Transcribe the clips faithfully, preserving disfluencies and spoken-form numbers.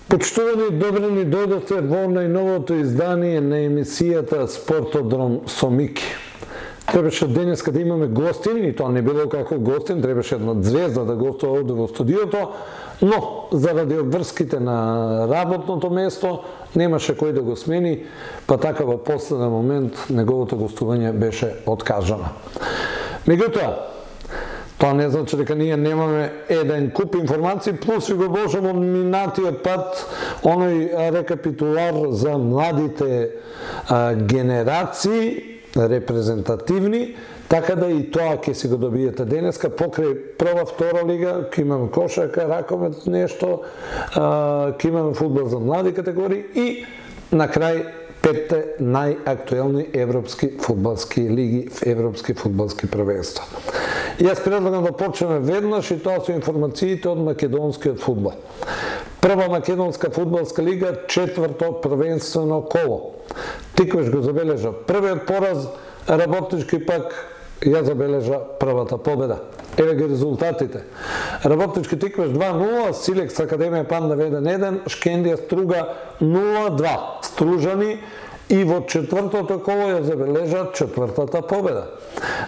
Почитувани, добри ни дојдовте во најновото издание на емисијата Спортодром со Мики. Требаше денеска да имаме гостин, и тоа не било како гостин, требаше една звезда да гостува овде во студиото, но заради обврските на работното место немаше кој да го смени, па така во последен момент неговото гостување беше откажано. Меѓутоа, тоа не значи дека ние немаме еден куп информации, плюс ви го вложам од минатиот пат оној рекапитулар за младите а, генерации, репрезентативни, така да и тоа ќе си го добиете денеска покрај прва, втора лига, ќе имаме кошарка, ракомет, нешто, а, ќе имаме фудбал за млади категории и на крај петте најактуелни европски фудбалски лиги, европски фудбалски првенства. Јас предлагам да почнеме веднаш и тоа со информациите од македонскиот фудбал. Прва македонска фудбалска лига, четврто првенствено коло. Тиквеш го забележа првиот пораз, Работнички пак ја забележа првата победа. Еве ги резултатите. Работнички Тиквеш два нула, Силекс Академија Панда еден еден, Шкендија Струга нула два. Стружани и во четвртото коло ја забележа четвртата победа.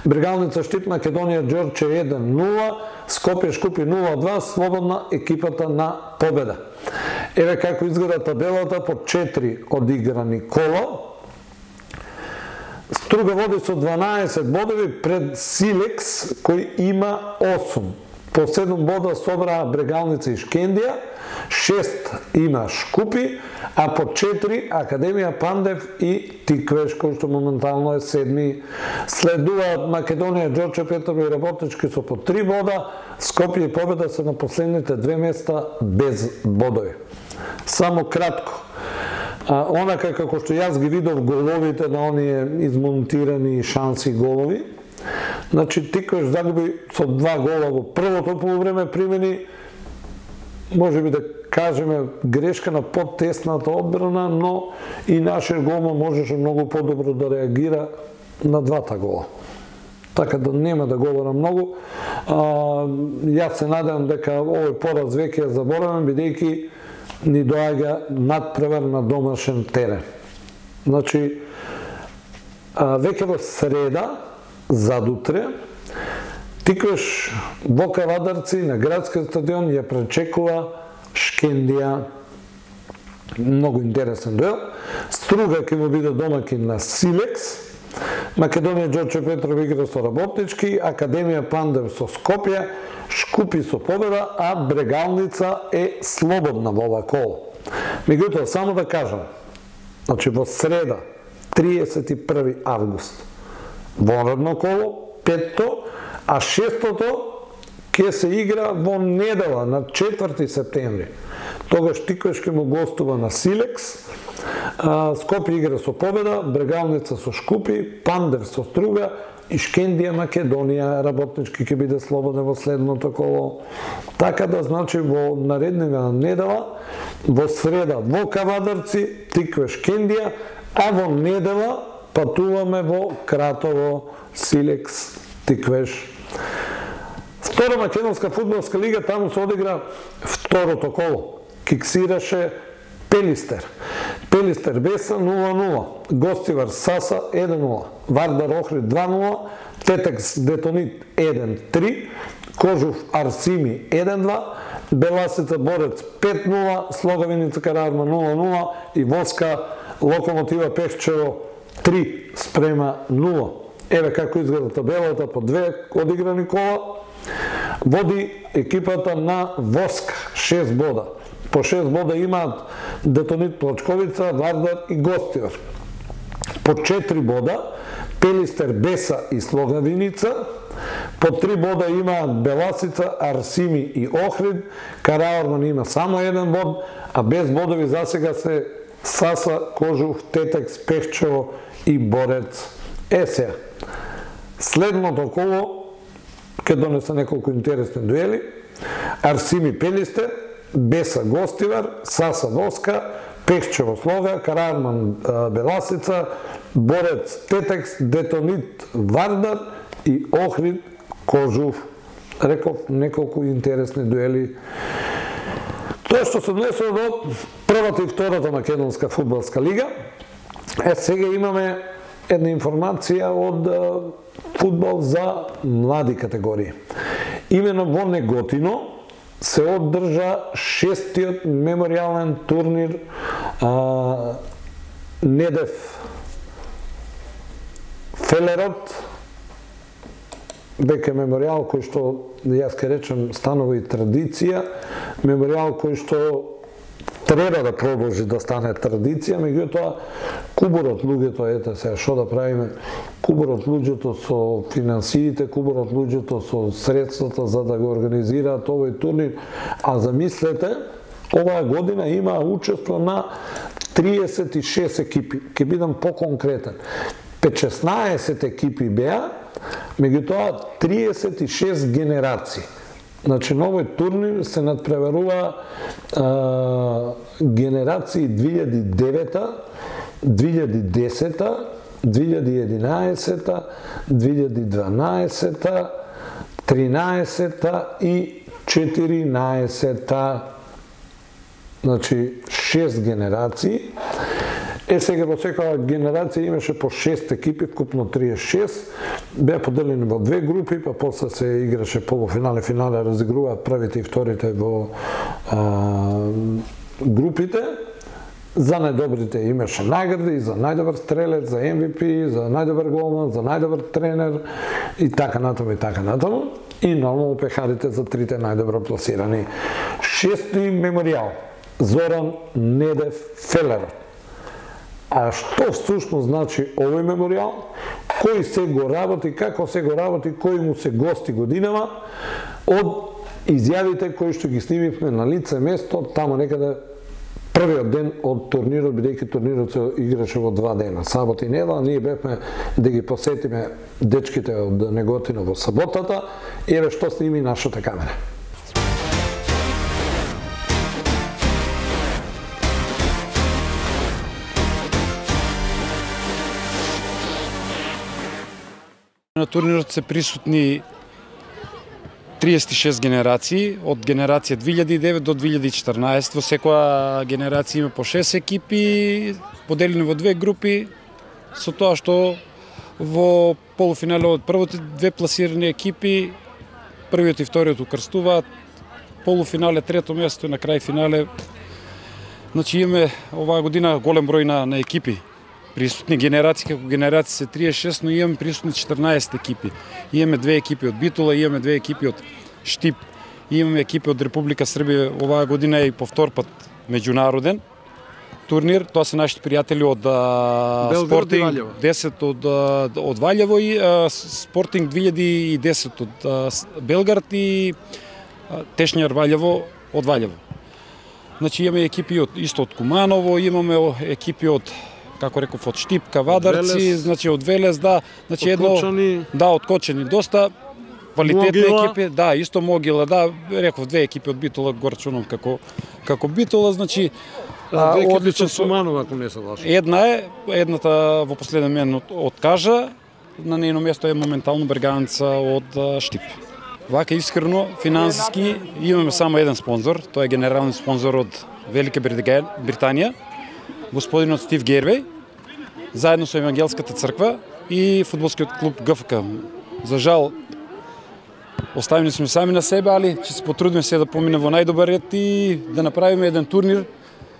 Брегалница Штип Македонија Ѓорче еден нула, Скопје Шкупи нула два, слободна екипата на победа. Еве како изгледа табелата по четири одиграни кола. Струга води со дванаесет бодови пред Силекс кој има осум. По седум бода собраа Брегалница и Шкендија, шест има Шкупи, а по четири Академија Пандев и Тиквеш, кој што моментално е седми. Следуваат Македонија, Ѓорче Петрово и Работнички со по три бода, Скопје и Победа се на последните две места без бодови. Само кратко. А, онака како што јас ги видов головите на оние измонтирани шанси голови, значи Тиквеш загуби со два гола во првото полувреме, примени, може би да кажеме грешка на подтесната одбрана, но и нашиот голман можеше многу подобро да реагира на двата гола. Така да нема да говорам многу. А, јас се надевам дека овој пораз веќе ја заборавам, бидејќи ни доаѓа надпревар на домашен терен. Значи, а, веќе во среда, задутре, Тиквеш во Кавадарци на градскиот стадион ја пречекува Шкендија. Многу интересен дуел. Струга ќе му биде домакин на Силекс. Македонија Ѓорче Петров игра со Работнички, Академија Пандев со Скопје, Шкупи со Победа, а Брегалница е слободна во ова коло. Меѓутоа, само да кажам, значи во среда, триесет и први август, вонредно коло, петто, а шестото ќе се игра во недела на четврти септември. Тогаш Тиквеш ќе му гостува на Силекс, Скопје игра со Победа, Брегалница со Шкупи, Пандев со Струга и Шкендија Македонија. Работнички ќе биде слободен во следното коло. Така да, значи, во нареднива недела, во среда во Кавадарци, Тиквеш Шкендија, а во недела патуваме во Кратово, Силекс, Тиквеш. Втора македонска фудбалска лига, таму се одигра второто коло. Киксираше Пелистер. Пелистер Беса нула нула, Гостивар Саса еден нула, Вардар Охрид два нула, Тетекс Детонит еден три, Кожув Арсими еден два, Беласица Борец пет нула, Слогавиница Караарма нула нула и Воска Локомотива Пешчево три спрема нула. Еве како изгледа табелата по две одиграни кола. Води екипата на Воска шест бода. По шест бода имаат Детонит Плачковица, Вардар и Гостивар. По четири бода Пелистер Беса и Слогавиница. По три бода имаат Беласица, Арсими и Охрид. Караорман има само еден бод, а без бодови засега се Саса, Кожув, Тетекс, Пехчево и Борец. Есеја. Следното коло ќе донесе неколку интересни дуели. Арсими Пелистер, Беса Гостивар, Саса Воска, Пехчево Слога, Карарман Беласица, Борец Тетекс, Детонит Вардар и Охрид Кожув. Реков неколку интересни дуели. Тоа што се однесува до првата и втората македонска фудбалска лига. Е, сега имаме една информација од фудбал за млади категории. Имено во Неготино се одржа шестиот меморијален турнир а, Недев Фелерот, дека меморијал кој што, јас ке речем, станува и традиција, меморијал кој што треба да продолжи да стане традиција, меѓутоа кубурот луѓето, ете сега што да правиме, кубурот луѓето со финансиите, кубурот луѓето со средствата за да го организираат овој турнир, а замислете, оваа година има учество на триесет и шест екипи, ќе бидам поконкретен. петнаесет екипи беа, меѓутоа триесет и шест генерации. Значи, на овој турнир се надпреварува а, генерации две илјади и девета, две илјади и десета, две илјади и единаесета, две илјади и дванаесета, тринаесета и четиринаесета. Значи, шест генерации. Е, сега во секоја генерација имаше по шест екипи, вкупно триесет и шест, беа поделени во две групи, па после се играше полуфинале, финале, разигруваат првите и вторите во а, групите. За најдобрите имаше награди, за најдобар стрелец, за Ем Ви Пи, за најдобар голман, за најдобар тренер и така натаму и така натаму. И нормално пехарите за трите најдобро пласирани. Шести меморијал Зоран Недев Фелерот. А што всушност значи овој меморијал, кој се го работи, како се го работи, кој му се гости годинава, од изјавите кои што ги снимивме на лице место, тамо некаде првиот ден од турнирот, бидејќи турнирот се играше во два дена, сабот и недела, ние бевме да ги посетиме дечките од Неготино во саботата, и еве што сними нашата камера. На турнирот се присутни триесет и шест генерации, од генерација две илјади и девет до две илјади и четрнаесет. Во секоја генерација има по шест екипи, поделени во две групи, со тоа што во полуфинале од првите две пласирани екипи, првиот и вториот укрстуваат, полуфинале трето место и на крај финале. Значи имаме оваа година голем број на, на екипи. Присутни генерации, како генерации се триесет и шест, но имаме присутни четрнаесет екипи. Имаме две екипи од Битола, имаме две екипи од Штип, имаме екипи од Република Србија. Оваа година е и повтор пат меѓународен турнир. Тоа се нашите пријатели од Спортинг десет од, од Валјево и а, Спортинг две илјади и десет од а, Белгард и а, Тешњар Валјево од Валјево. Значи имаме екипи од, исто од Куманово, имаме екипи од, како реков, од Штип, Кавадарци, значи од Велес, да, значи едно, да, од Кочани, доста квалитетни екипи, да, исто Могила, да, реков две екипи од Битола, горчуном како како Битола, значи а, одличен Суманова, ако не се лажам. Една е, едната во последен момент откажа, на нејно место е моментално Берганца од Штип. Вака искрено, финансиски имаме само еден спонзор, тој е генерален спонзор од Велика Британија, господинот Стив Гервеј, заедно со Евангелската црква и фудбалскиот клуб Г Ф К. За жал, оставени сме сами на себе, али ќе се потрудиме се да помине во најдобар ред и да направиме еден турнир,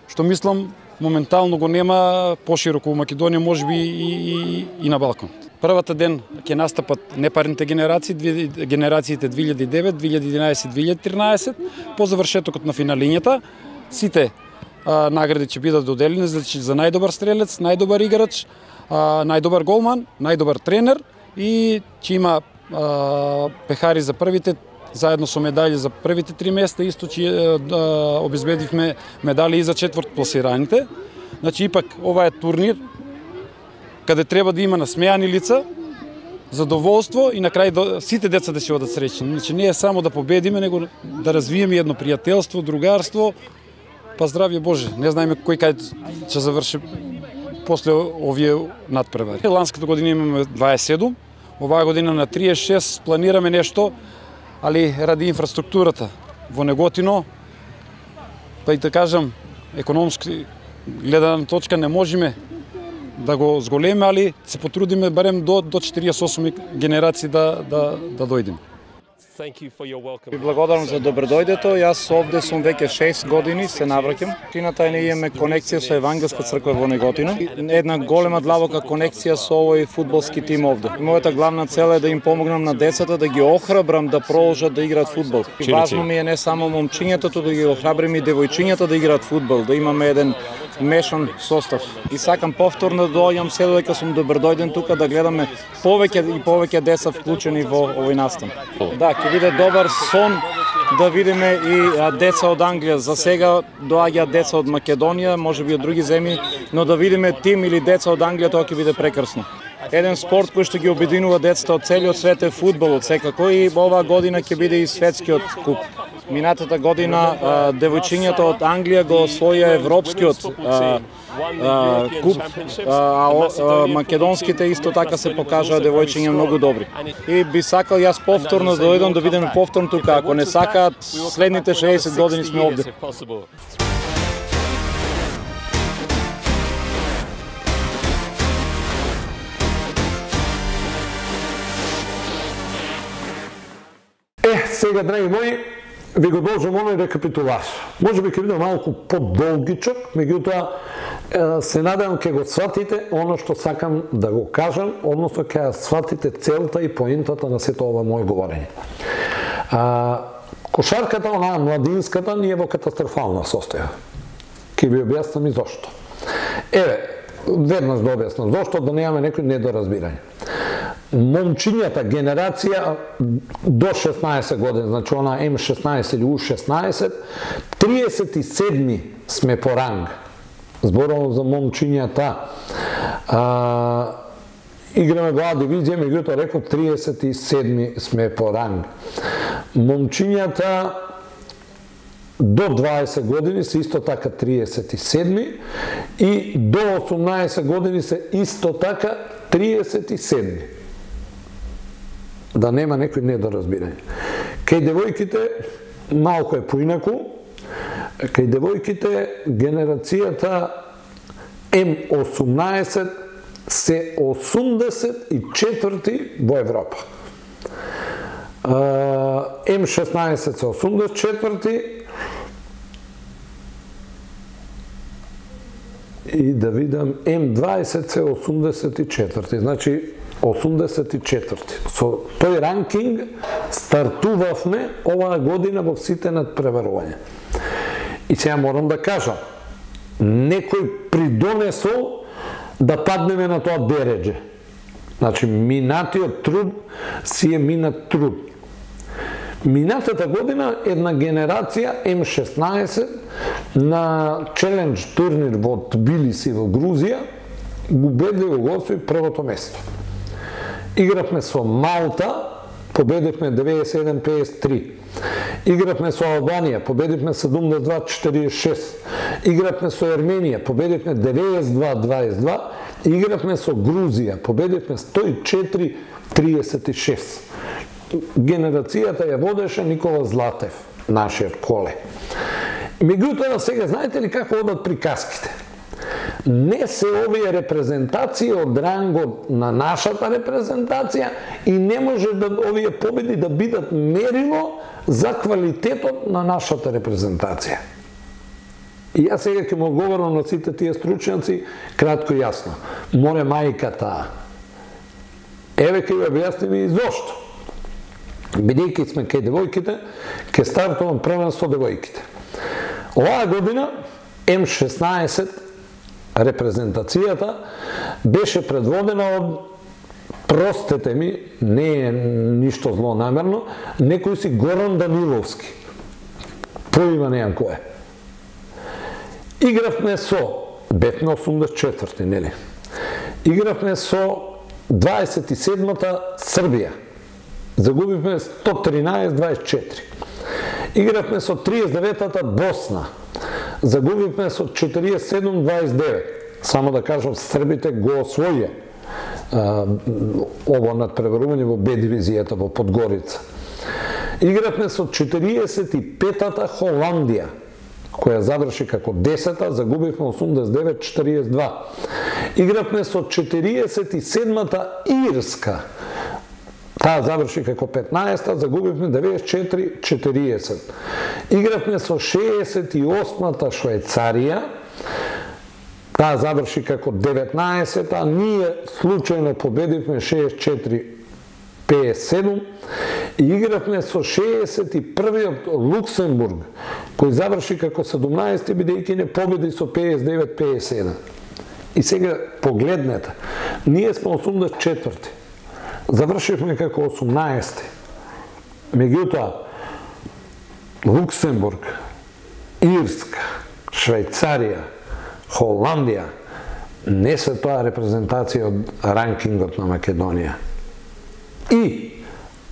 што мислам моментално го нема пошироко во Македонија, можеби и, и, и на Балкан. Првата ден ќе настапат непарните генерации, генерациите две илјади и девет, две илјади и единаесет, две илјади и тринаесет, по завршетокот на финалињата, сите а, награди ќе бидат доделени, значи за најдобар стрелец, најдобар играч, а, најдобар голман, најдобар тренер и ќе има а, пехари за првите, заедно со медали за првите три места, исто ќе обезбедивме медали и за четврт пласираните. Значи, ипак, ова е турнир каде треба да има насмејани лица, задоволство и на крај сите деца да се одат среќни. Значи, не е само да победиме, него да развиеме едно пријателство, другарство, па здравје Боже. Не знаеме кој кај ќе заврши после овие надпревари. Ланската година имаме дваесет и седум, оваа година на триесет и шест планираме нешто, али ради инфраструктурата во Неготино, па и да кажам, економски гледана точка не можеме да го зголеме, али се потрудиме барем до до четириесет и осум генерации да да да дојдеме. Ви благодарам за добредојдето. Јас овде сум веќе шест години, се навраќам. Кината е, ние имаме конекција со Евангелска црква во Неготино. Една голема длабока конекција со овој фудбалски тим овде. Мојата главна цел е да им помогнам на децата, да ги охрабрам да продолжат да играат фудбал. И важно ми е не само момчињата, туку да ги охрабрим и девојчињата да играат фудбал, да имаме еден мешан состав. И сакам повторно да доаѓам се додека сум добродојден тука да гледаме повеќе и повеќе деца вклучени во овој настан. Да, ќе биде добар сон да видиме и деца од Англија. За сега доаѓаат деца од Македонија, можеби од други земји, но да видиме тим или деца од Англија, тоа ќе биде прекрасно. Еден спорт кој што ги обединува децата од целиот свет е фудбалот секако, и оваа година ќе биде и светскиот куп. Минатата година девојчињата од Англија го освоија европскиот а, а, куп, а, а македонските исто така се покажаа девојчиња многу добри. И би сакал јас повторно да дојдам да видиме повторно тука, ако не сакаат следните шеесет години сме овде. Е, сега, драги мои, ви го должам оној рекапитулаш. Може би ќе биде малку подолгичок, меѓутоа се надевам ќе го сватите оно што сакам да го кажам, односно ќе сватите целта и поентата на сето ова моје говорење. А, кошарката, онаа младинската, ни е во катастрофална состојба. Ќе ви објаснам и зошто. Еве, веднаш да објаснам зошто, да немаме некој недоразбирање. Момчињата генерација до шеснаесет години, значи она М шеснаесет или У шеснаесет, триесет и седми сме по ранг. Зборувам за момчињата. А, играме во А дивизија, меѓутоа реков триесет и седми сме по ранг. Момчињата до дваесет години се исто така триесет и седми и до осумнаесет години се исто така триесет и седми. Да нема некој недоразбирање. Кај девојките малку е поинаку. Кај девојките генерацијата М осумнаесет се осумдесет и четврти во Европа. М шеснаесет се осумдесет и четврти и да видам М дваесет се осумдесет и четврти. Значи осумдесет и четврти. Со тој ранкинг стартувавме оваа година во сите надпреварувања. И сега морам да кажам, некој придонесол да паднеме на тоа дередже. Значи, минатиот труд си е минат труд. Минатата година една генерација М шеснаесет на челендж турнир во Тбилиси во Грузија убедливо го освои првото место. Игравме со Малта, победивме деветдесет и еден пеесет и три. Игравме со Албанија, победивме седумдесет и два четириесет и шест. Игравме со Ерменија, победивме деветдесет и два дваесет и два. Игравме со Грузија, победивме сто и четири триесет и шест. Генерацијата ја водеше Никола Златев, нашиот коле. Меѓутоа, сега знаете ли како одат приказките? Не се овие репрезентации од рангот на нашата репрезентација и не може да овие победи да бидат мерило за квалитетот на нашата репрезентација. И јас сега ќе му одговорам на сите тие стручњаци кратко и јасно. Море мајката. Еве ќе ви објасним и зошто. Бидејќи сме кај девојките, ќе стартувам првенство девојките. Оваа година М шеснаесет репрезентацијата беше предводена од, простете ми, не е ништо злонамерно, некој си Горан Даниловски. Поима неам кој е. Игравме со бевме осумдесет и четврти, нели? Игравме со дваесет и седмата Србија. Загубивме сто тринаесет дваесет и четири. Игравме со триесет и деветата Босна. Загубивме со четириесет и седум дваесет и девет. Само да кажам, србите го освоија ово надпреварување во Б дивизијата во Подгорица. Игравме со четириесет и петата Холандија, која заврши како десета, загубивме осумдесет и девет четириесет и два. Игравме со четириесет и седмата Ирска, таа заврши како петнаесета, загубивме деветдесет и четири четириесет. Игравме со шеесет и осмата Швајцарија, таа заврши како деветнаесета, а ние случајно победивме шеесет и четири петдесет и седум. И игравме со шеесет и првиот Луксембург, кој заврши како седумнаесети, бидејќи не победи со петдесет и девет петдесет и седум. И сега погледнете, ние сме осумдесет и четврти, завршивме како осумнаесети. Меѓутоа, Луксембург, Ирска, Швајцарија, Холандија не се тоа репрезентација од ранкингот на Македонија. И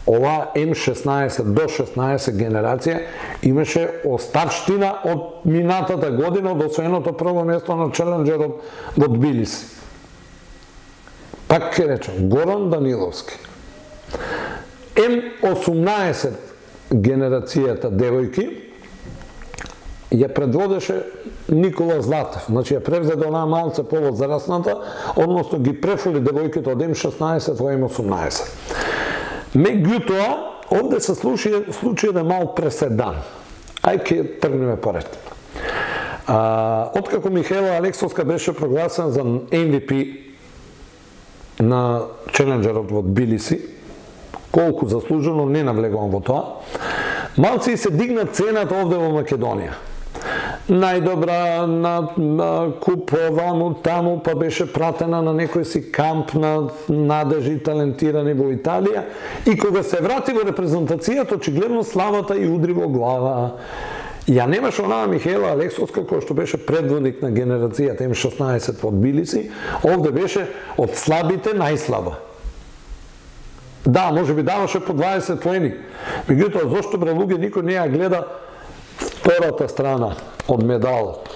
ова М шеснаесет до шеснаесет генерација имаше оставштина од минатата година, од освоеното прво место на челенџерот во Тбилиси. Пак ќе речем, Горан Даниловски. М осумнаесет генерацијата девојки ја предводеше Никола Златев, значи ја превзеде онаа малце повозрасната, односно ги префули девојките од М шеснаесет во М осумнаесет. Меѓутоа, овде се случи, случи еден мал преседан. Ај ќе тргнеме поред. А, откако Михаела Алексовска беше прогласена за М В П на челенџерот во Тбилиси, колку заслужено, не навлегувам во тоа, малци и се дигна цената овде во Македонија. Најдобра на, на куп ваму таму, па беше пратена на некој си камп на надежи талентирани во Италија, и кога се врати во репрезентацијата, очигледно славата и удри во глава. Ја немаше онаа Михаела Алексовска, која што беше предводник на генерацијата М шеснаесет во Тбилиси, овде беше од слабите најслаба. Да, може би даваше по дваесет поени. Меѓутоа, зошто бре луѓе никој не ја гледа втората страна од медалот?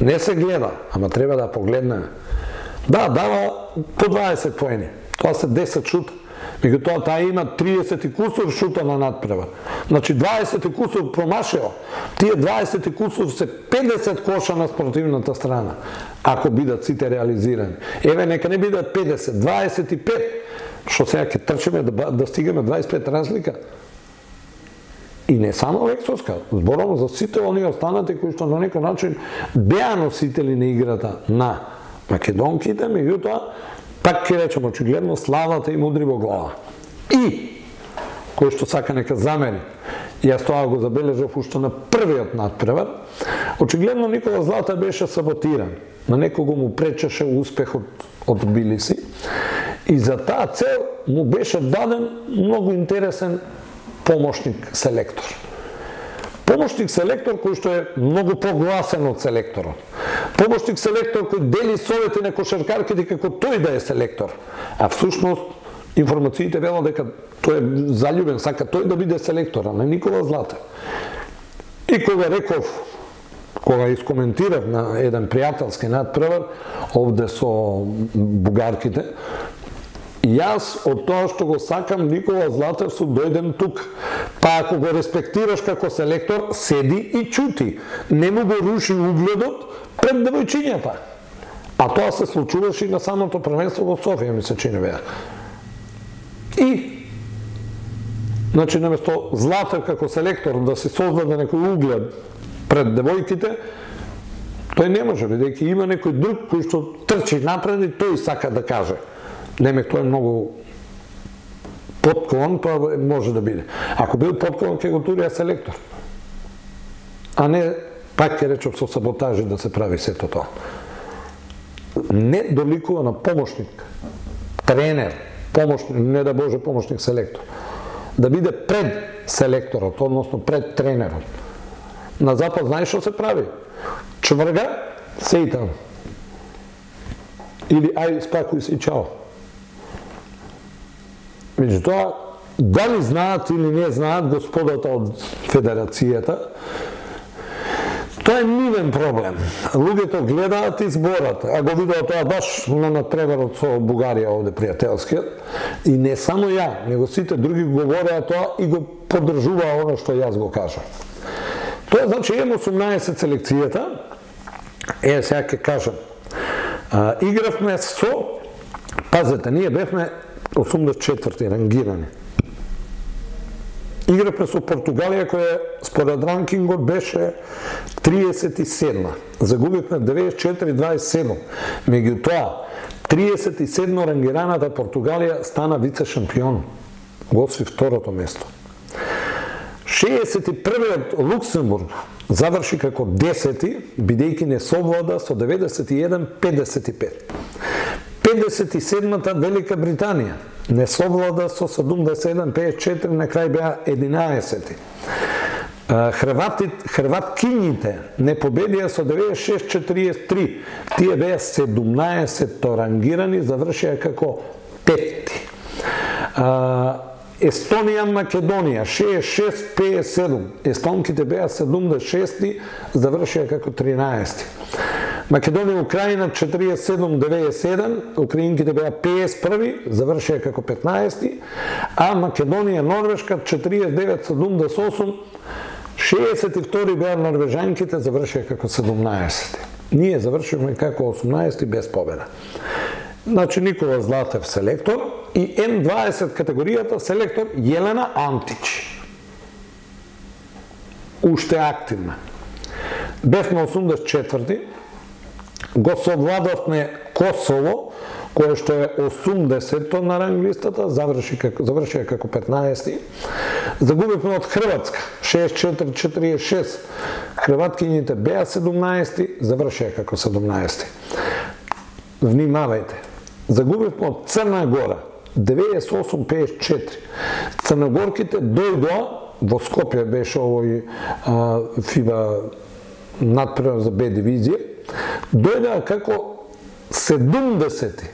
Не се гледа, ама треба да погледнеме. Да, дава по дваесет поени. Тоа се десет шута. Меѓутоа, таа има триесет и кусур шута на надпревар. Значи, дваесет и кусур промашео. Тие дваесет и кусур се педесет коша на спортивната страна, ако бидат сите реализирани. Еве, нека не бидат педесет, дваесет и пет. Што сега ќе трчиме да, да стигаме дваесет и пет разлика? И не само Алексовска, зборувам за сите оние останати кои што на некој начин беа носители на играта на македонките, меѓутоа, пак ќе речем, очигледно славата им удри во глава. И, кој што сака нека замери, јас тоа го забележав уште на првиот надпревар, очигледно Никола Злата беше саботиран. На некого му пречеше успехот од Тбилиси, и за таа цел му беше даден многу интересен помошник селектор. Помошник селектор кој што е многу погласен од селекторот. Помошник селектор кој дели совети на кошаркарките како тој да е селектор. А всушност информациите велат дека тој е заљубен, сака тој да биде селектор, а не Никола Златев. И кога реков, кога искоментирав на еден пријателски надпревар овде со бугарките, јас од тоа што го сакам Никола Златев су дојдем тук. Па ако го респектираш како селектор, седи и чути. Не му го руши угледот пред девојчињата. А тоа се случуваше и на самото првенство во Софија, ми се чини беа. И, значи, наместо Златев како селектор да се создаде некој углед пред девојките, тој не може, бидејќи има некој друг кој што трчи напред и тој сака да каже. Немек, тој е многу поткован, па може да биде. Ако бил поткован, ќе го турија селектор. А не, пак ќе речем, со саботажи да се прави сето тоа. Не доликува на помошник, тренер, помошник, не да Боже помошник селектор. Да биде пред селекторот, односно пред тренерот. На запад знаеш што се прави? Чврга, се и таму. Или ај спакуј се и чао. Меѓутоа, дали знаат или не знаат господата од Федерацијата, тоа е нивен проблем. Луѓето гледаат и зборат, а го видео тоа баш на натпреварот со Бугарија овде пријателскиот. И не само ја, него сите други говореа тоа и го поддржуваа оно што јас го кажам. Тоа значи М осумнаесет селекцијата, е сега ќе кажам, а, игравме со, пазете, ние бевме осумдесет и четврти рангирани. Игравме со Португалија која според ранкингот беше триесет и седма. Загубивме деведесет и четири дваесет и седум. Меѓутоа, триесет и седма рангираната Португалија стана вице шампион. Го освои второто место. шеесет и првиот Луксембург заврши како десети, бидејќи не совлада со деветдесет и еден педесет и пет. педесет и седмата Велика Британија не совлада со седумдесет и еден педесет и четири, на крај беа единаесети. Хрвати, хрваткињите не победија со деветдесет и шест четириесет и три. Тие беа седумнаесетто рангирани, завршија како петти. Естонија, Македонија, шеесет и шест педесет и седум. Естонките беа седумдесет и шести, завршија како тринаести. Македонија, Украина, четириесет и седум деветдесет и еден, украинките беа педесет и први, завршија како петнаести, а Македонија, Норвешка, четириесет и девет седумдесет и осум, шеесет и втори беа норвежанките, завршија како седумнаесети. Ние завршивме како осумнаести без победа. Значи Никола Златев селектор и М дваесет категоријата селектор Јелена Антич. Уште активна. Бевме осумдесет и четврти, го совладавме Косово, кое што е осумдесетто на ранглистата, заврши како, завршија како петнаести. Загубивме од Хрватска, шеесет и четири четириесет и шест. Хрваткињите беа седумнаести, завршија како седумнаести. Внимавајте. Загубивме од Црна Гора, деветдесет и осум педесет и четири. Црногорките дојдоа, во Скопје беше овој а, фиба надпревар за Б дивизија, дојдоа како седумдесети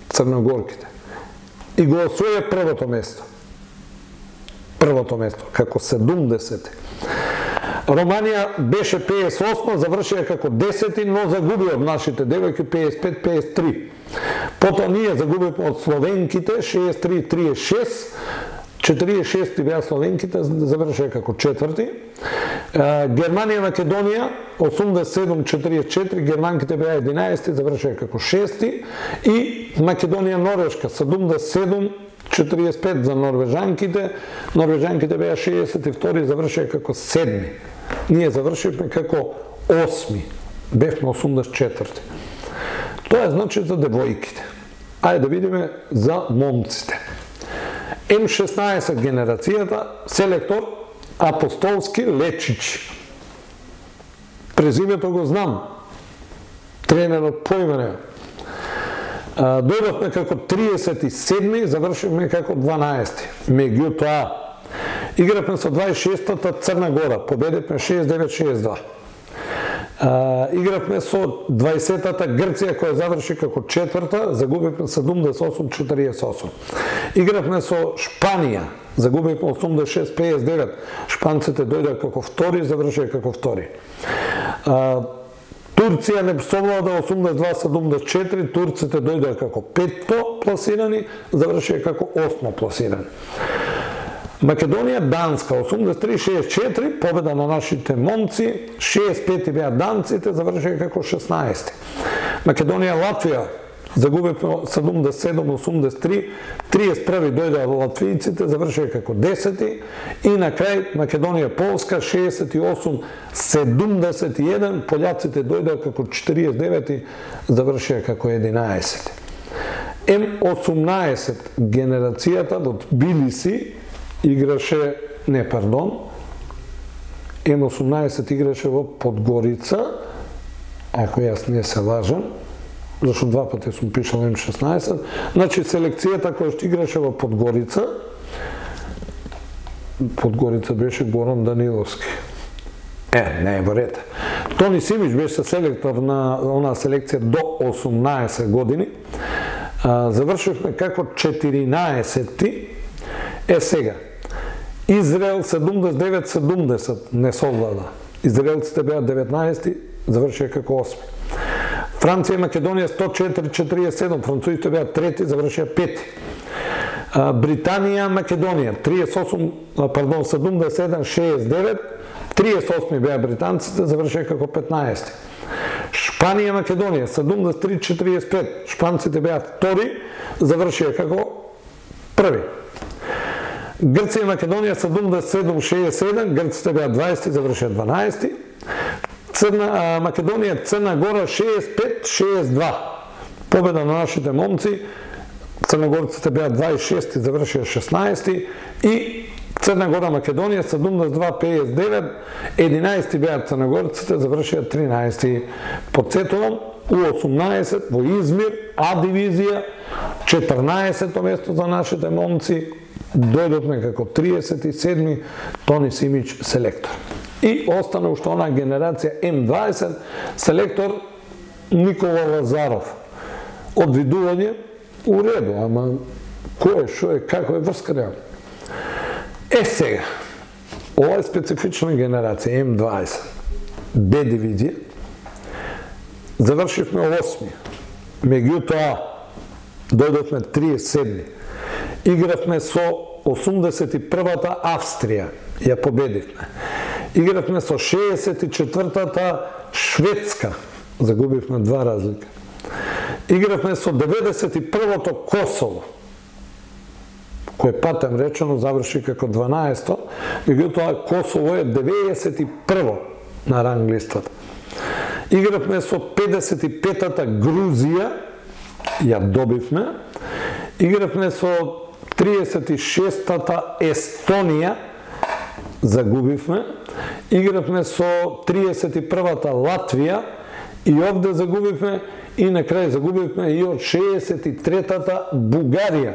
црногорките и го освоја првото место. Првото место, како седумдесети. Романија беше педесет и осма, завршија како десети, но загуби од нашите девојки педесет и пет педесет и три. Потоа ние загубивме од словенките шеесет и три триесет и шест, четириесет и шести беа словенките, завршија како четврти. Германија, Македонија, осумдесет и седум четириесет и четири, германките беа единаести, завршија како шести. И Македонија, Норвешка, седумдесет и седум четириесет и пет за норвежанките, норвежанките беа шеесет и втори, завршија како седми. Ние завршивме како осми, бевме осумдесет и четврти. Тоа е значи за девојките. Ајде да видиме за момците. М шеснаесет генерацијата, селектор Апостолски Лечич. Презимето го знам, тренерот поиме не. Дојдовме како триесет и седми, завршивме како дванаести. Меѓутоа, игравме со дваесет и шестата Црна Гора, победивме шеесет девет шеесет два. Uh, игравме со дваесетата Грција, која заврши како четврта, загубивме седумдесет и осум четириесет и осум. Игравме со Шпанија, загубивме осумдесет и шест педесет и девет. Шпанците дојдоа како втори, завршија како втори. Uh, Турција не совлада осумдесет и два седумдесет и четири, турците дојдоа како петто пласирани, завршија како осмо пласирани. Македонија, Данска, осумдесет и три шеесет и четири, победа на нашите момци, шеесет и пети беа данците, завршија како шеснаести. Македонија, Латвија, загубивме седумдесет и седум осумдесет и три, триесет и први дојдоа латвијците, завршија како десети, и на крај Македонија, Полска, шеесет и осум седумдесет и еден, пољаците дојдоа како четириесет и девети, завршија како единаесети. М осумнаесет генерацијата од Тбилиси играше, не, пардон, М осумнаесет играше во Подгорица, ако јас не се лажам, зашто два пати сум пишал М шеснаесет, значи селекцијата која што играше во Подгорица, Подгорица беше Горан Даниловски. Е, не е во ред. Тони Симич беше селектор на онаа селекција до осумнаесет години. А, завршивме како четиринаесетти. Е сега, Израел седумдесет и девет седумдесет не совлада. Израелците беа деветнаесети, завршија како осми. Франција и Македонија сто четири четириесет и седум, французите беа трети, завршија пети. Британија, Македонија триесет и осум, пардон, седумдесет и седум шеесет и девет, триесет и осми беа британците, завршија како петнаесети. Шпанија, Македонија седумдесет и три четириесет и пет, шпанците беа втори, завршија како први. Грција и Македонија седумдесет и седум шеесет и седум, грците беа дваесети, завршија дванаесети. Црна Македонија, Црна Гора шеесет и пет шеесет и два. Победа на нашите момци. Црногорците беа дваесет и шести, завршија шеснаесети, и Црна Гора Македонија седумдесет и два пеесет и девет, единаесети беа црногорците, завршија тринаесети. Потсетувам, у осумнаесет во Измир, А дивизија, четрнаесето место за нашите момци, дојдовме како триесет и седми, Тони Симич селектор. И остана уште онаа генерација М дваесет, селектор Никола Лазаров. Одвидување у реду, ама кој е, шо е, како е врскарја? Е сега, ова е специфична генерација М дваесет, Б дивизија, завршивме осми, меѓутоа дојдовме триесет и седми, игравме со осумдесет и првата Австрија, ја победивме. Игравме со шеесет и четвртата Шведска, загубивме два разлика. Игравме со деветдесет и првото Косово, кој патем речено заврши како дванаесто, меѓутоа Косово е деветдесет и прво на ранг листата. Игравме со педесет и петата Грузија, ја добивме. Игравме со триесет и шестата Естонија, загубивме. Игравме со триесет и првата Латвија и овде загубивме, и на крај загубивме и од шеесет и третата Бугарија.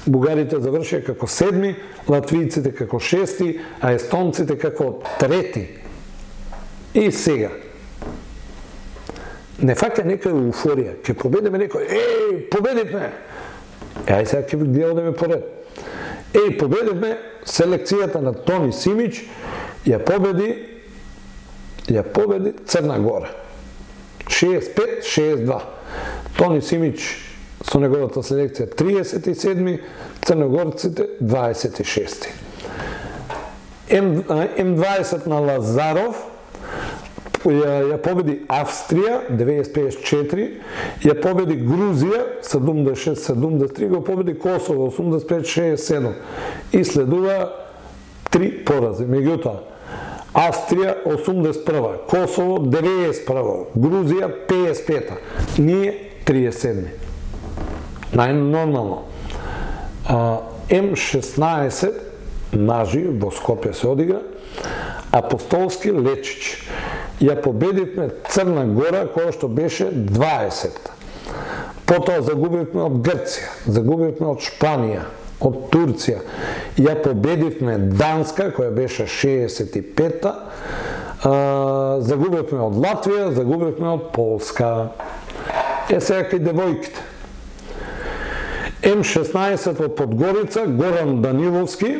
Бугарите завршија како седми, латвијците како шести, а естонците како трети. И сега, не фаќа некоја еуфорија, ќе победиме некој, еј, победивме! Е, ај сега ќе ги одеме поред. Еј, победивме, селекцијата на Тони Симич ја победи, ја победи Црна Гора. шеесет и пет шеесет и два. Тони Симич со неговата селекција триесет и седми, црногорците дваесет и шести. М дваесет на Лазаров ја, ја победи Австрија деветдесет и пет четири, ја победи Грузија седумдесет и шест седумдесет и три, го победи Косово осумдесет и пет шеесет и седум и следува три порази. Меѓутоа, Австрија осумдесет и прва, Косово деветдесет и прва, Грузија пеесет и пета, ние триесет и седми. Најнормално. М шеснаесет нажи во Скопје се одига, Апостолски Лечич. Ја победивме Црна Гора, која што беше дваесет. Потоа загубивме од Грција, загубивме од Шпанија, од Турција. Ја победивме Данска, која беше шеесет и пета, загубивме од Латвија, загубивме од Полска. Е сега кај девојките. М шеснаесет во Подгорица, Горан Даниловски.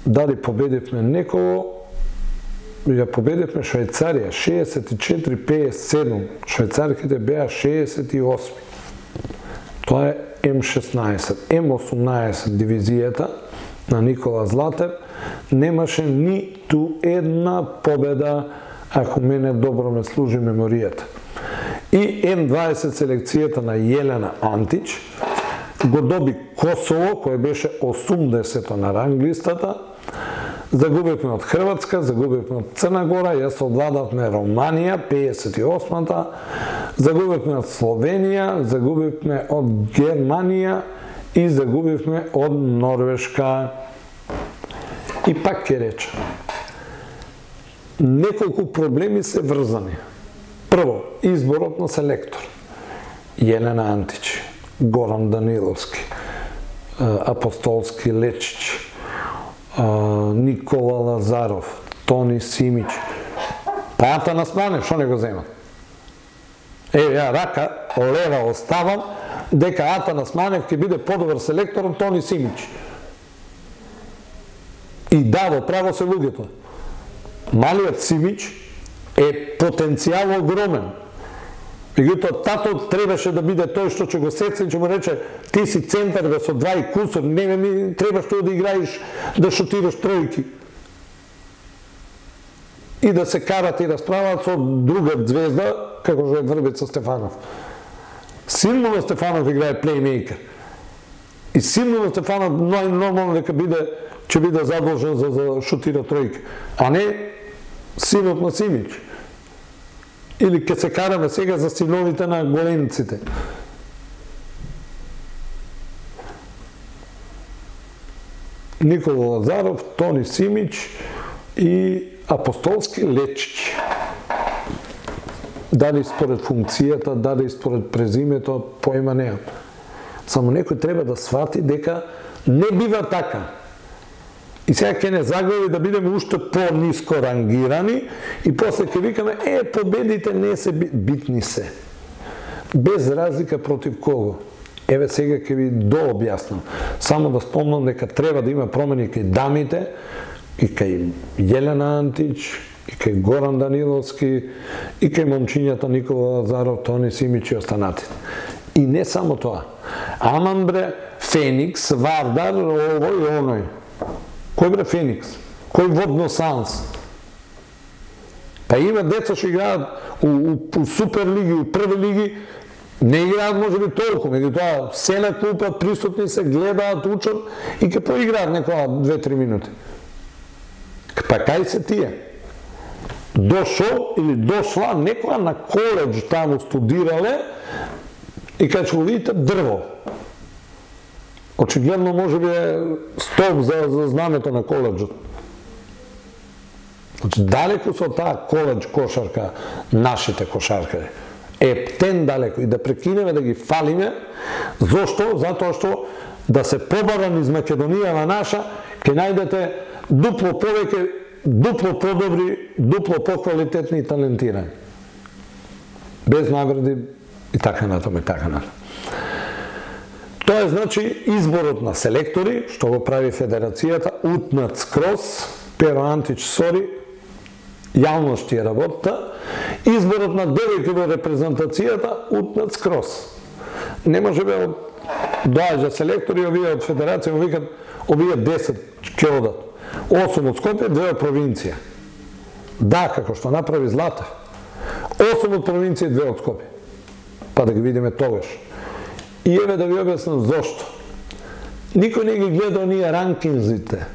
Дали победивме некого? Ја победивме Швајцарија, шеесет и четири пеесет и седум. Швајцарките беа шеесет и осми. Тоа е М шеснаесет. М осумнаесет дивизијата на Никола Златев немаше ниту една победа, ако мене добро ме служи меморијата. И М дваесет селекцијата на Јелена Антич го доби Косово, кој беше осумдесето на ранг листата. Загубивме од Хрватска, загубивме од Црна Гора, јас одвладавме Романија, пеесет и осмата, загубивме од Словенија, загубивме од Германија и загубивме од Норвешка. И пак ќе речам, неколку проблеми се врзани. Прво, изборот на селектор. Јелена Антич, Горан Даниловски, Апостолски Лечич, Никола Лазаров, Тони Симич. Па Атанас Манев, што не го земат? Е, ја рака лева оставам дека Атанас Манев ќе биде подобар селектор од Тони Симич. И да, во право се луѓето. Малиот Симич е потенцијал огромен. Меѓутоа, татот требаше да биде тој што ќе го сеца и ќе му рече ти си центар бе со два и кусор, не ми требаш тоа да играиш, да шутираш тројки. И да се карат и расправат со друга звезда, како што е Врбица Стефанов. Силно Стефанов играе плеймейкер. И силно Стефанов нормално дека биде ќе биде задолжен за, за шутира тројки, а не синот на Симич. Или ќе се караме сега за синовите на големците. Никола Лазаров, Тони Симич и Апостолски Лечич. Дали според функцијата, дали според презимето, поема неам. Само некој треба да свати дека не бива така. И сега ќе не загледа да бидеме уште по-ниско рангирани и после ќе викаме, е, победите не се битни се. Без разлика против кого. Еве сега ќе ви дообјаснам. Само да спомнам дека треба да има промени кај дамите, и кај Јелена Антич, и кај Горан Даниловски, и кај момчињата Никола Лазаров, Тони Симич и останатите. И не само тоа. Аман бре, Феникс, Вардар, овој и оној. Кој бре Феникс? Кој Водно Санс? Па има деца што играат у, у, у суперлиги, у први лиги, не играат може би толку, меѓутоа се на клупа, присутни се, гледаат, учат и ќе поиграат некоја две-три минути. Па кај се тие? Дошол или дошла некоја на коледж таму студирале и кај ќе го видите дрво. Очигледно може би е столб за, за знамето на коледжот. Значи, далеко со таа коледж кошарка, нашите кошаркари. Ептен далеко. И да прекинеме да ги фалиме. Зошто? Затоа што да се побара низ Македонијава наша, ќе најдете дупло повеќе, дупло подобри, дупло поквалитетни и талентирани. Без награди и така натаму и така натаму. Тоа е, значи, изборот на селектори, што го прави Федерацијата, утнат скроз, Перо Антич сори, јавност е работа, изборот на девојки во репрезентацијата, утнат скроз. Не може бе доаѓа селектори, овие од Федерација, го викат, овие десет ќе одат. осум од Скопје, две од провинција. Да, како што направи Златев. осум од провинција, две од Скопје. Па да ги видиме тогаш. И еве да ви објаснам зошто. Никој не ги гледа оние ранкинзите.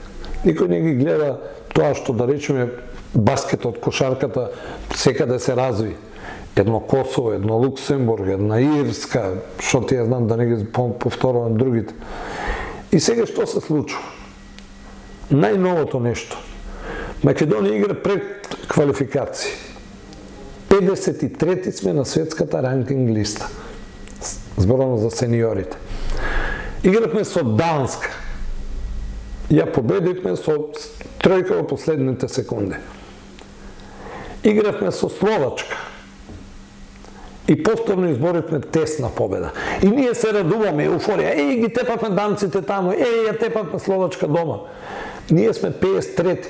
Никој не ги гледа тоа што, да речеме, баскетот, кошарката секаде се разви. Едно Косово, едно Луксембург, една Ирска, што ти ја знам да не ги повторувам другите. И сега што се случува? Најновото нешто. Македонија игра пред квалификации. педесет и трети сме на светската ранкинг листа. Зборувам за сениорите. Игравме со Данска. Ја победивме со тројка во последните секунди. Игравме со Словачка. И повторно изборивме тесна победа. И ние се радуваме, еуфорија. Еј, ги тепавме данците таму, еј, ја тепавме Словачка дома. Ние сме педесет и трети.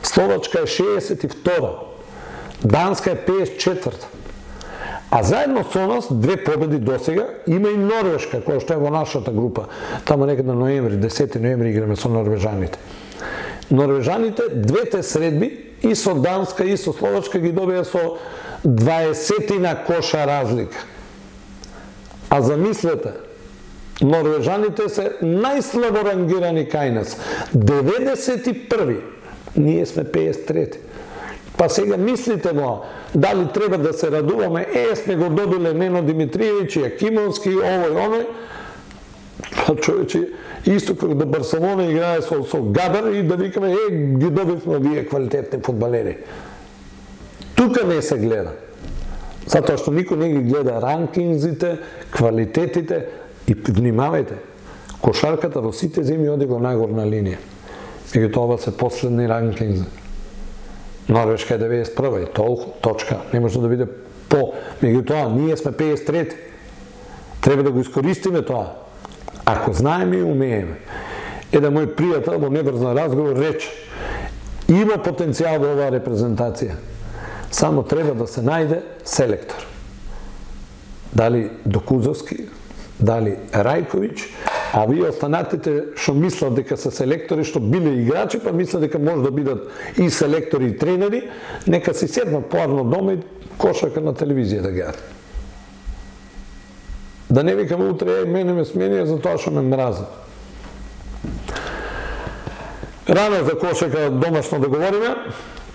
Словачка е шеесет и втора. Данска е педесет и четврта. А заедно со нас, две победи досега, има и Норвешка, која што е во нашата група. Тамо некаде ноември, десети ноември играме со норвежаните. Норвежаните, двете средби, и со Данска, и со Словачка ги добија со дваесетина коша разлика. А замислете, норвежаните се најслабо рангирани кај нас. деветдесет и први. Ние сме педесет и трети. Па сега мислите во, дали треба да се радуваме, е, сме го добиле Нено Димитриевич, Јакимовски, овој, оној. Па човече, исто како да Барселона играе со, со Габер и да викаме, е, ги добивме овие квалитетни фудбалери. Тука не се гледа. Затоа што никој не ги гледа ранкинзите, квалитетите и внимавајте, кошарката во сите земи оди во најгорна линија. Меѓутоа ова се последни ранкинзи. Норвешка е деветдесет и прва и толку, точка, не може да биде по. Меѓутоа, ние сме пеесет и трети. Треба да го искористиме тоа. Ако знаеме и умееме. Еден мој пријател во неврзан разговор рече: има потенцијал во оваа репрезентација. Само треба да се најде селектор. Дали Докузовски, дали Рајковиќ, а вие останатите што мислат дека се селектори, што биле играчи, па мислат дека може да бидат и селектори и тренери, нека си седнат поарно дома и кошарка на телевизија да гледат. Да не викаме утре, мене ме сменија за тоа што ме мразат. Рано за кошарка домашно да говориме,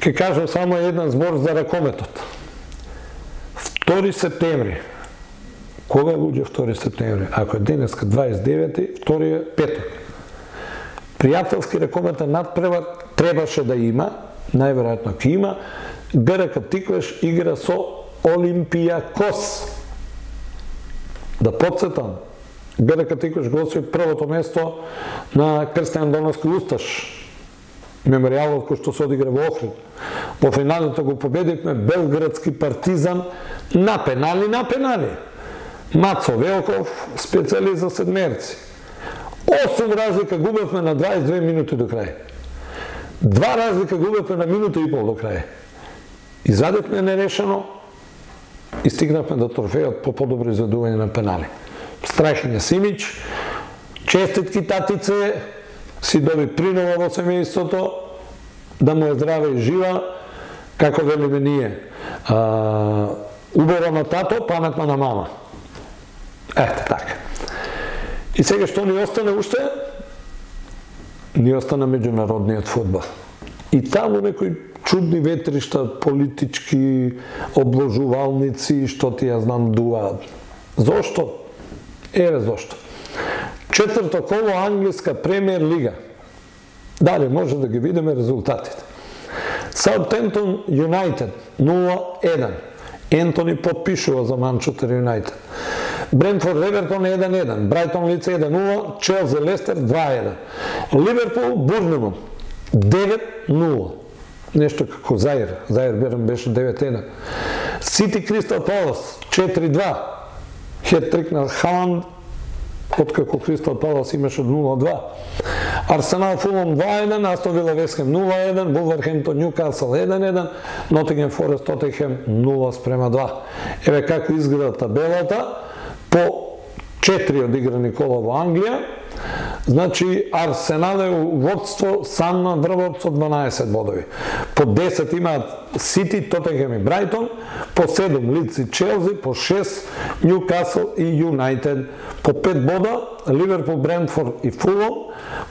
ќе кажам само еден збор за ракометот. втори септември. Кога е луѓе втори септември? Ако е денеска дваесет и девети, втори е петок. Пријателски ракометен надпревар требаше да има, најверојатно ќе има. ГРК Тиквеш игра со Олимпијакос. Да подсетам, ГРК Тиквеш го освои првото место на Крстјан Доновски Усташ, меморијалот кој што се одигра во Охрид. Во финалето го победивме Белградски Партизан на пенали, на пенали. Мацо Велков, специјалист за седмерци. осум разлика губевме на дваесет и две минути до крај. Два разлика губевме на минута и пол до крај. Извадивме нерешено и стигнавме до трофејот по подобро изведување на пенали. Страхиња Симич, честитки татице, си доби принова во семејството, да му е здраве и жива, како велиме ние. А, убава на тато, паметна на мама. Ете така. И сега што ни остане уште? Ни остана меѓународниот фудбал. И таму некои чудни ветришта, политички обложувалници, што ти ја знам дуваат. Зошто? Еве зошто. Четврто коло англиска премиер лига. Дали може да ги видиме резултатите. Саутемптон Юнайтед нула еден. Ентони подпишува за Манчестер Юнайтед. Брентфорд Евертон еден еден, Брайтон Лиц еден нула, Челси Лестер два еден. Ливерпул Бурнемут девет нула. Нешто како Заир, Заир Берен беше девет еден. Сити Кристал Палас четири два. Хет-трик на Халанд, откако Кристал Палас имаше нула два. Арсенал Фулам два еден, Астон Вила Вест Хем нула еден, Вулверхемптон Њукасл еден еден, Нотингем Форест Тотенхем нула спрема два. Еве како изгледа табелата по четири одиграни кола во Англија. Значи, Арсенал е у водство сам на врвот со дванаесет бодови. По десет имаат Сити, Тотенхем и Брайтон, по седум Лиц и Челси, по шест Њукасл и Юнайтед, по пет бода Ливерпул, Брентфорд и Фулам,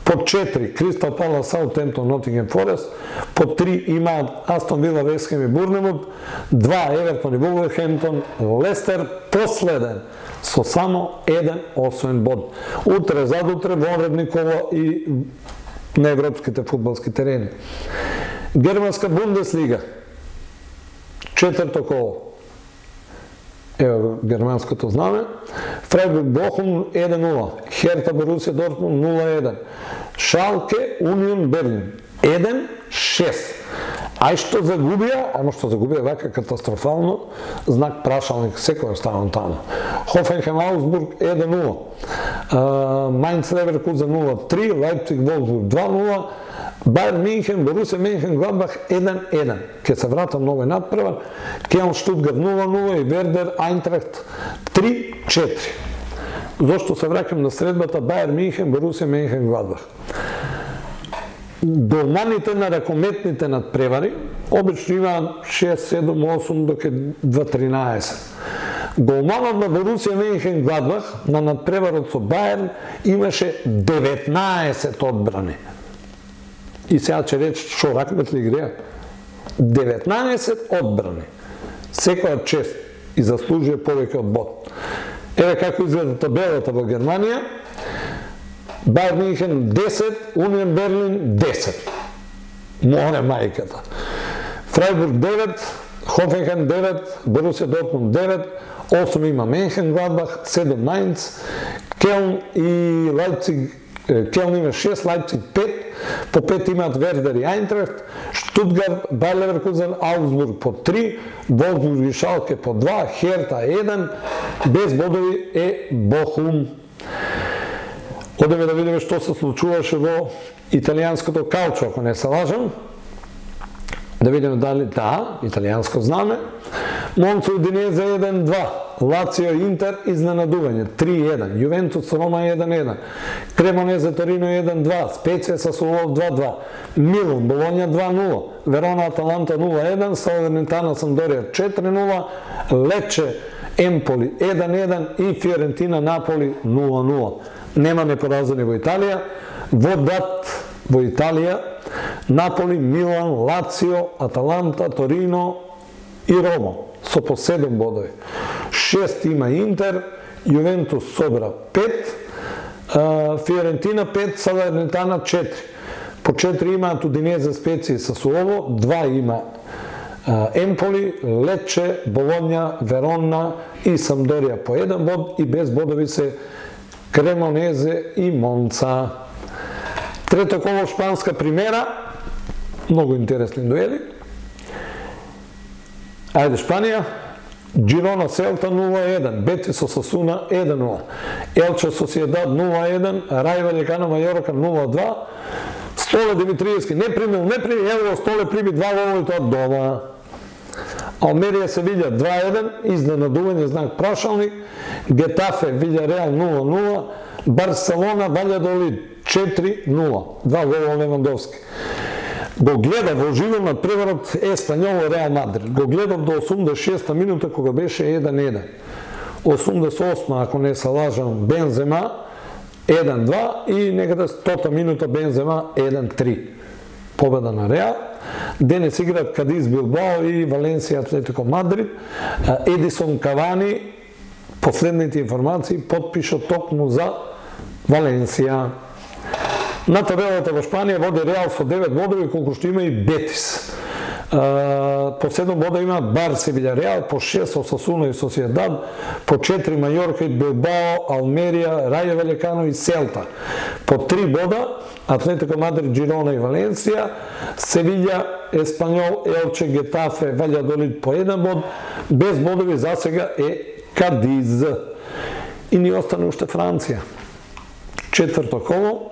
по четири Кристал Палас, Саутемптон, Нотингем Форест, по три имаат Астон Вила, Вест Хем и Бурнемут, два Евертон и Вулверхемптон, Лестер последен со само еден освоен бод. Утре, задутре, вонредни кола и на европските фудбалски терени. Германска Бундеслига, четврто коло. Ево германското знаме. Фрайбург Бохум еден нула. Херта Борусија Дортмунд нула еден. Шалке Унион Берлин еден шест. Ај што загубија, ама што загубија вака катастрофално, знак прашалник секој останал таму. Хофенхем Аусбург еден нула. Мајнц Леверкузен нула три, Лајпциг Волфсбург два нула, Бајер Минхен, Борусија Менхенгладбах еден еден. Ке се вратам новој надпревар, Келн Штутгарт нула нула и Вердер Ајнтрахт три четири. Зошто се враќам на средбата Бајер Минхен, Борусија Менхенгладбах? Голманите на ракометните надпревари обично имаат шест, седум, осум, доке два тринаесет. Голманот на Борусија Менхенгладбах на надпреварот со Бајерн имаше деветнаесет одбрани. И сега ќе рече, шо, ракмет ли игреа? деветнаесет одбрани. Секоја чест и заслужува повеќе од бод. Еве како изгледа табелата во Германија. Бајер Минхен десет, Унион Берлин десет. Море мајката. Фрайбург девет, Хофенхем девет, Борусија Дортмунд девет, осум има Менхенгладбах, седум Мајнц, Келн и Лајпциг, Келн има шест, Лајпциг пет, по пет имаат Вердер и Айнтрахт, Штутгарт, Байер Леверкузен, Аугсбург по три, Волфсбург и Шалке по два, Херта еден, без бодови е Бохум. Одеме да видиме што се случуваше во италијанското калчо, ако не се лажам. Да видиме дали, да, италијанско знаме. Монца Удинезе еден два, Лацио Интер изненадување три еден, Јувентус Рома еден еден, Кремонезе Торино еден два, Специја Сасуоло два два, Милан Болоња два нула, Верона Аталанта нула еден, Салернитана Самдорија четири нула, Лече Емполи еден еден и Фиорентина Наполи нула нула. Нема непоразени во Италија, во дат во Италија, Наполи, Милан, Лацио, Аталанта, Торино и Рома со по седум бодови. шест има Интер, Јувентус собра пет, Фиорентина пет, Салернитана четири. По четири имаат Удинезе, Специја и Сасуоло, два има Емполи, Лече, Болоња, Верона и Самдорија по еден бод и без бодови се Кремонезе и Монца. Трето коло шпанска примера, многу интересни дуели. Ајде Шпанија, Джирона Селта нула еден, Бетис Осасуна еден нула, Елче Сосиедад нула еден, Рај Ваљекано Мајорка нула два, Столе Димитриевски не примил, не примил, ево Столе прими два голови тоа дома. Алмерија се видја два еден, изненадување знак прашалник, Гетафе видја Реал нула нула, Барселона Ваљадолид четири нула, два гола Левандовски. Го гледав во живо на преварот Еспањол Реал Мадрид. Го гледав до осумдесет и шеста минута кога беше еден еден. осумдесет и осма, ако не се лажам, Бензема еден два и некаде стота минута Бензема еден три. Победа на Реал. Денес играат Кадис Билбао и Валенсија Атлетико Мадрид. Едисон Кавани, последните информации, потпиша токму за Валенсија. На табелата во Шпанија води Реал со девет бодови, колку што има и Бетис. По седум бода има Барси Вилјареал, по шест Осасуна и Сосиедад, по четири Мајорка и Билбао, Алмерија, Рајо Ваљекано и Селта. По три бода Атлетико Мадрид, Джирона и Валенсија, Севиља, Еспањол, Елче, Гетафе, Ваљадолид по еден bod, без бодови за сега е Кадиз. И ни остане уште Франција. Четврто коло,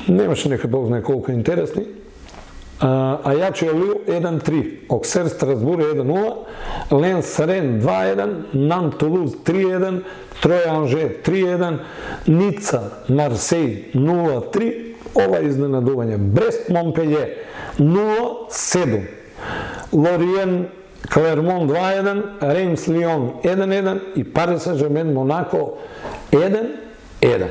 немаше нека Бог знае колку интересни. Ајачио Лил еден три, Оксер Страсбур еден нула, Ленс Рен два еден, Нан Тулуз три еден, Троја Анже три еден, Ница Марсеј нула три, ова изненадување. Брест Монпелје нула седум, Лориен Клермон два еден, Реймс Лион еден еден и Парис Сен-Жермен Монако еден еден.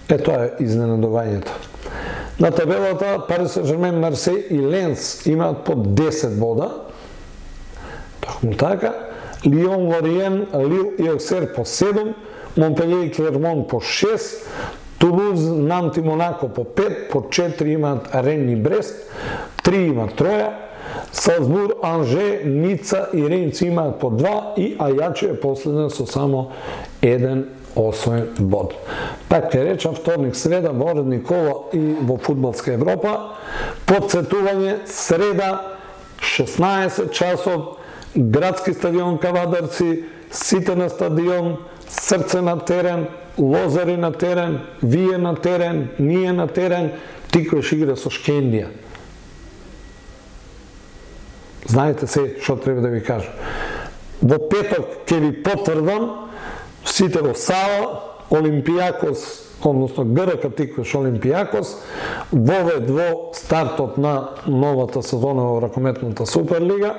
Е, тоа е изненадувањето. На табелата Парис Сен-Жермен, Марсеј и Ленс имаат по десет бода. Токму така. Лион, Лориен, Лил и Оксер по седум, Монпелје и Клермон по шест, Тулуз, Нант и Монако по пет, по четири имаат Рен и Брест, три имаат Троја, Салзбур, Анже, Ница и Рейнц имаат по два и Ајачио е последен со само еден освоен bod. Пак ќе речам, вторник, среда, во редни кола и во фудбалска Европа. Подсетување, среда, шеснаесет часот, градски стадион Кавадарци, сите на стадион, Срце на терен, Лозари на терен, вие на терен, ние на терен, Тиквеш игра со Шкендија. Знаете се што треба да ви кажам. Во петок ќе ви потврдам, сите во сала, Олимпијакос, односно ГРК Тиквеш Олимпијакос, вовед во стартот на новата сезона во ракометната Суперлига.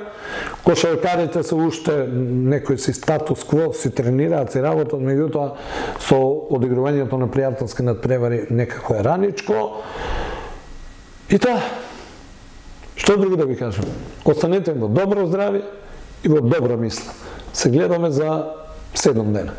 Кошаркарите се уште некој си статус кво, си тренираат, си работат, меѓутоа со одигрувањето на пријателски надпревари некако е раничко. И тоа, што друго да ви кажам? Останете во добро здравје и во добра мисла. Се гледаме за седум дена.